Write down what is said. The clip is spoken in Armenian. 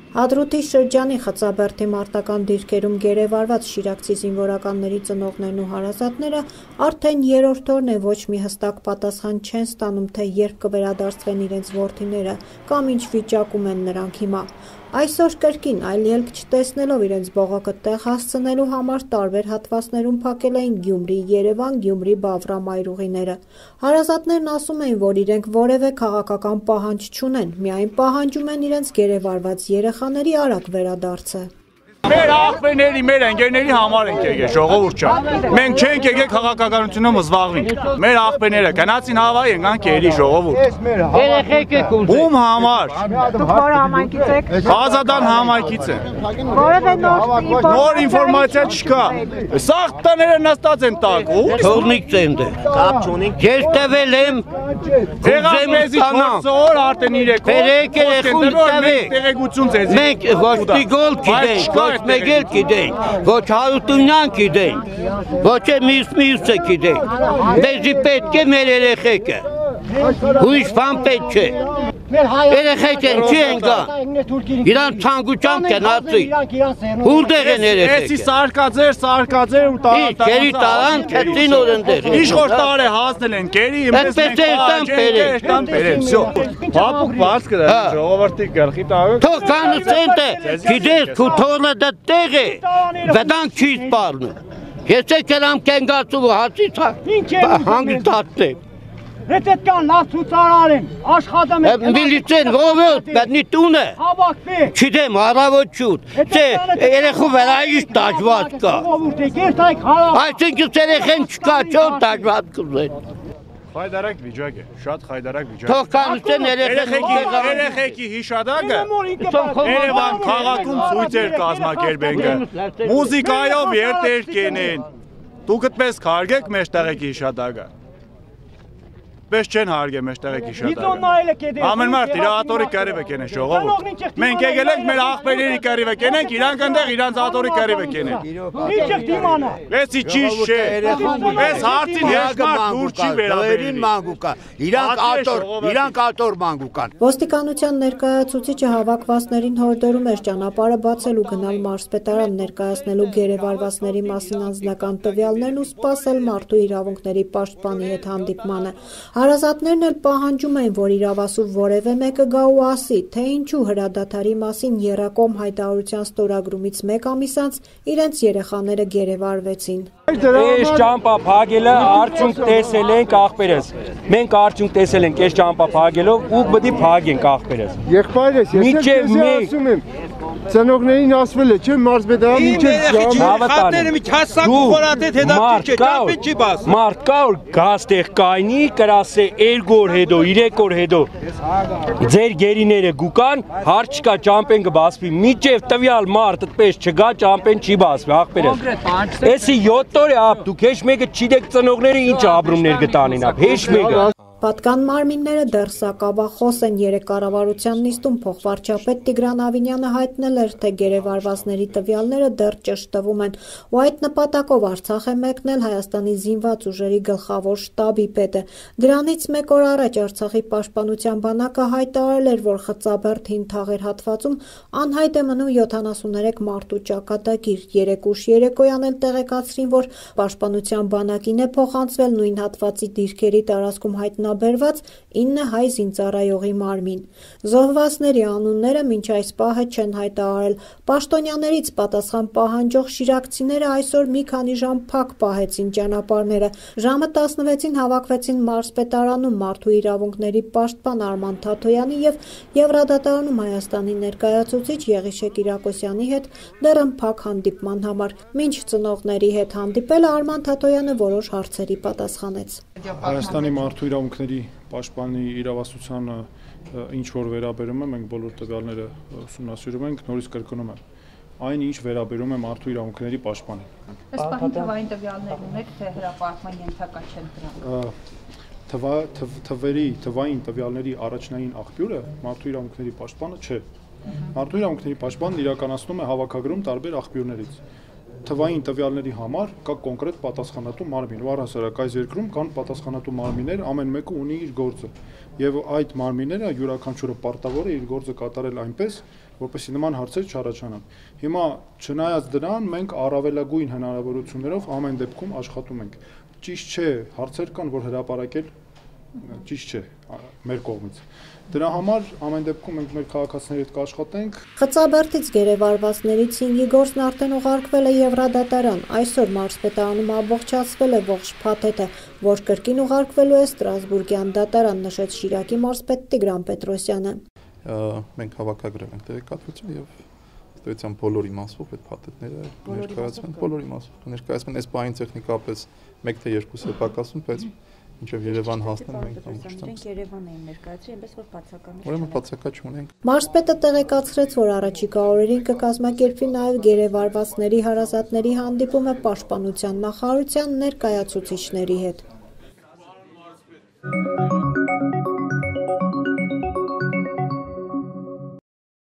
Հադրութի շրջանի Խծաբերդի մարտական դիրքերում գերեվարված շիրակցի զինվորականների ծնողներն ու հարազատները արդեն երրորդ օրն է ոչ մի հստակ պատասխան չեն ստանում, թե երբ կվերադարձվեն իրենց որդիները կամ ինչ վիճակում են նրանք հիմա։ Այսօր կրկին այլ ելք չտեսնելով իրենց բողոքը տեղ հասցնելու համար տարբեր հատվածներում փակել էին Գյումրի, Երևան, Գյումրի, Բավրամ այրուղիները։ Հարազատներն ասում էին, որ իրենք որևէ քաղաքական պահանջ չունեն, միայն պահանջում են իրենց գերեվարված երեխաների արագ վերադարձը։ Մեր աղբերների, մեր ընկերների համար ենք եկել, ժողովուրդ ջան։ Մենք չենք եկել քաղաքականությունով զբաղվենք։ Մեր աղբերները գնացին Հավայի եկան կերի ժողովուրդ։ Երեխեք եք ուզում։ Ում համար։ Դուք որ համայնքից եք։ Ազատան համայնքից են։ Որևէ նոր ինֆորմացիա չկա։ Սաղ տները նստած են տակ։ Թողնիկ ցենդ է։ Կապ չունենք։ Ես տվել եմ։ Եղավ մեզի 4 օր արդեն 3 օր։ Բերեք երեխուն տվեք։ Տեղեկություն ձեզ։ Մենք ոչ տիգոլ գիտենք, ոչ մեգել գիտենք, ոչ հարութունյան գիտենք, ոչ մյուսը գիտենք։ Մեզի պետք է մեր երեխեքը։ Ուրիշ բան պետք չէ։ Երեխեք են չի են գա։ Իրան ցանկությամբ կնացի։ Որտեղ են երեխեքը։ Էսի սարկաձեր ու տարան։ Կերի տարան քեցին օրենտեղ։ Իշխոր տարե հասնել են կերի, մեզ տան բերել։ Всё։ Բաբուկ բաց կրա ժողովրդի գլխի տալու։ Թող կանցենտ է։ Գիտես քու թողնը դա տեղ է։ Վդան չի սպառնում։ Ես եկել կենգացու հացից հանգստացել։ Հետետ կան լավ ցուցարար են, աշխատում են։ Միլիցեն ովոտ, բədնի տունը։ Հավաքվի։ Չդեմ առավոտ շուտ։ Չէ, երեխու վերայիշ դաժված կա։ Այսինքն երեխեն չկա, չո դաժված կուզեն։ Խայդարակ վիճակ է, շատ խայդարակ վիճակ։ Թող կանցեն երեխեքի հիշադակը Երևան քաղաքում ցույցեր կազմակերպենք։ Մուզիկայով երթեր կենեն։ Դուք այդպես քարգեք մեր տեղեկի հիշադակը։ Պես չեն հարգել մեր տեղեկի հիշադակը։ Ամեն մարդ իր աթորի կերիվը կենեն ժողովուրդ։ Մենք եկել ենք մեր աղբերների կերիվը կենենք, իրանք այնտեղ իրանց աթորի կերիվը կենեն։ Ինչ եք դիմանա։ Էսի ճիշտ չէ։ Էս հարցին հեշտար դուր չի վերաբերին մանգուկա։ Իրանք աթոր մանգուկան։ Ոստիկանության ներկայացուցիչը հավաքվածներին հորդորում էր ճանապարհը բացել ու գնալ մարզպետարան ներկայացնելու գերեվարվածների մասին անձնական տվյալներն ու սպասել մարդու իրավունքների պաշտպանի հետ հանդիպմանը։ Հարազատներն էլ պահանջում են, որ իրավասու որևէ մեկը գա ու ասի, թե ինչու հրադադարի մասին եռակողմ հայտարարության ստորագրումից 1 ամիս անց իրենց երեխաները գերեվարվեցին։ Այս ճամփա փակելը արդյունք տեսել ենք աղբերս։ Մենք արդյունք տեսել ենք այս ճամփա փակելով ու պետք է փակենք աղբերս։ Եղբայրս, ես ասում եմ, ծնողներին ասվել է, չէ՞ մարզպետարան մինչև հավատալի։ մի հասակ խորատետ հետաքրքիր չէ, ճամփին չի բաս։ Մարդ կա որ գաստեղ կայնի, կրասե 2 օր հետո, 3 օր հետո ձեր գերիները գուկան, հարց չկա ճամփեն կբասվի։ Միջև տվյալ մարդ այդպես չգա, ճամփեն չի բասվի, աղբերս։ Էսի 7 օր է ապ, դուք հեչ մեկը չգիտեք ծնողները ինչ ապրումներ կտանին ապ, հեչ մեկը։ Պատկան մարմինները դեռ սակավախոս են։ Երեկ կառավարության նիստում փոխվարչապետ Տիգրան Ավինյանը հայտնել էր, թե գերեվարվածների տվյալները դեռ ճշտվում են, ու այդ նպատակով Արցախ է մեկնել Հայաստանի զինված ուժերի գլխավոր շտաբի պետը։ Դրանից 1 օր առաջ Արցախի պաշտպանության բանակը հայտարարել էր, որ Խծաբերդ հին թաղեր հատվածում անհայտ է մնում 73 մարդու ճակատագիր։ Երեկուշ երեկոյան էլ տեղեկացրին, որ պաշտպանության բանակին է փոխանցվել նույն հատվածի դիրքերի տարածքում հայտնաբերված 9 հայ զինծառայողի մարմին։ Զոհվածների անունները մինչ այս պահը չեն հայտարարել։ Պաշտոնյաներից պատասխան պահանջող շիրակցիները այսօր մի քանի ժամ փակ պահեցին ճանապարհները։ Ժամը 16-ին հավաքվեցին մարզպետարանում մարդու իրավունքների պաշտպան Արման Թաթոյանի եւ Եվրադատարանում Հայաստանի ներկայացուցիչ Եղիշե Կիրակոսյանի հետ դեռ փակ հանդիպման համար։ Մինչ ծնողների հետ հանդիպելը Արման Թաթոյանը որոշ հարցերի պատասխանեց։ Հայաստանի մարդու իրավունքների պաշտպանի իրավասությանը ինչ որ վերաբերում է, մենք բոլոր տվյալները ուսումնասիրում ենք, նորից կրկնում եմ, այն ինչ վերաբերում է մարդու իրավունքների պաշտպանին։ Ըստ պահին թվային տվյալներ ունեք, թե հրապարակման ենթակա չեն դրանք։ Թվային տվյալների առաջնային աղբյուրը մարդու իրավունքների պաշտպանը չէ։ Մարդու իրավունքների պաշտպանն իրականացնում է հավաքագրում տարբեր աղբյուրներից։ Թվային տվյալների համար կա կոնկրետ պատասխանատու մարմին, ու առհասարակ այս երկրում կան պատասխանատու մարմիններ, ամեն մեկը ունի իր գործը, եւ այդ մարմինները յուրաքանչյուրը պարտավոր է իր գործը կատարել այնպես, որպեսզի նման հարցեր չառաջանան։ Հիմա չնայած դրան մենք առավելագույն հնարավորություններով ամեն դեպքում աշխատում ենք։ Ճիշտ չէ, հարցեր կան, որ հրապարակել ճիշտ չէ մեր կողմից։ Դրա համար ամեն դեպքում մենք մեր քաղաքացիների հետ կաշխատենք։ Խծաբերդից գերեվարվածներից 5-ի գործն արդեն ուղարկվել է Եվրադատարան։ Այսօր մարզպետարանում ամբողջացվել է ողջ փաթեթը, որ կրկին ուղարկվելու է Ստրասբուրգյան դատարան, նշեց Շիրակի մարզպետ Տիգրան Պետրոսյանը։ Մենք հավաքագրել ենք տեղեկատվություն եւ ըստ բոլոր իմաստով այդ փաթեթները ներկայացվեն, բոլոր իմաստով ներկայացվեն, այս բանին տեխնիկապես 1 թե 2 սեպակասում, բայց մինչև Երևան հասնեն մենք ամբողջությամբ Երևան էին ներկայացրել, այնպես որ բացակայություն չունենք։ Ուրեմն բացակայ չունենք։ Մարզպետը տեղեկացրեց, որ առաջիկա օրերին կկազմակերպվի նաև գերեվարվածների հարազատների հանդիպումը Պաշտպանության նախարարության ներկայացուցիչների հետ։